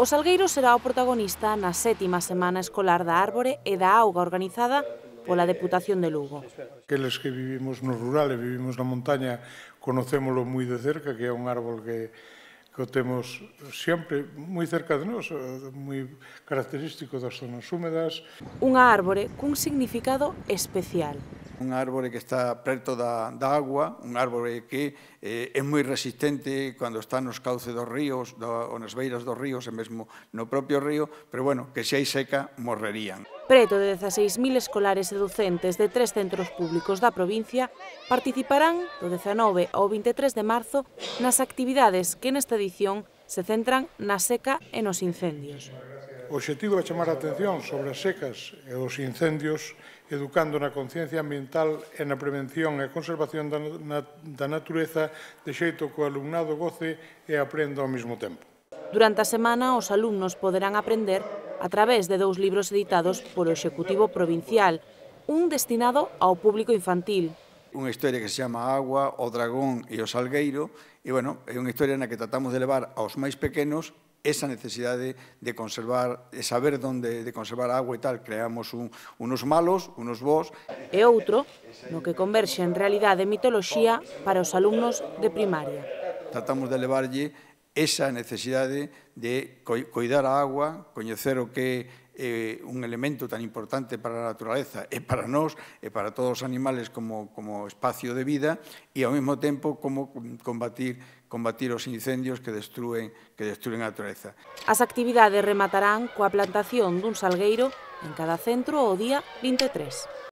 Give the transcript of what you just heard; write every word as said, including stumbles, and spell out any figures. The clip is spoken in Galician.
O Salgueiro será o protagonista na sétima semana escolar da árbore e da auga organizada pola Deputación de Lugo. Aqueles que vivimos no rural e vivimos na montaña conocémolo moi de cerca, que é un árbol que, que o temos sempre moi cerca de nós, moi característico das zonas húmedas. Unha árbore cun significado especial. Un árbore que está preto da, da agua, un árbore que eh, é moi resistente cando está nos cauces dos ríos, do, ou nas beiras dos ríos, e mesmo no propio río, pero bueno, que se hai seca, morrerían. Preto de dezaseis mil escolares e docentes de tres centros públicos da provincia participarán do dezanove ao vinte e tres de marzo nas actividades que nesta edición se centran na seca e nos incendios. O obxectivo é chamar a atención sobre as secas e os incendios, educando na conciencia ambiental e na prevención e conservación da, na, da natureza, de xeito que o alumnado goce e aprenda ao mesmo tempo. Durante a semana, os alumnos poderán aprender a través de dous libros editados polo Executivo Provincial, un destinado ao público infantil. Unha historia que se chama Agua, o Dragón e o Salgueiro, e, bueno, é unha historia na que tratamos de levar aos máis pequenos esa necesidade de conservar, de saber onde de conservar a agua e tal. Creamos un, unos malos, unos bons. E outro, no que converxe en realidade e mitoloxía para os alumnos de primaria. Tratamos de levarlle esa necesidade de coidar a agua, coñecer o que é un elemento tan importante para a naturaleza e para nós e para todos os animales como, como espacio de vida, e ao mesmo tempo como combatir, combatir os incendios que destruen, que destruen a naturaleza. As actividades rematarán coa plantación dun salgueiro en cada centro o día vinte e tres.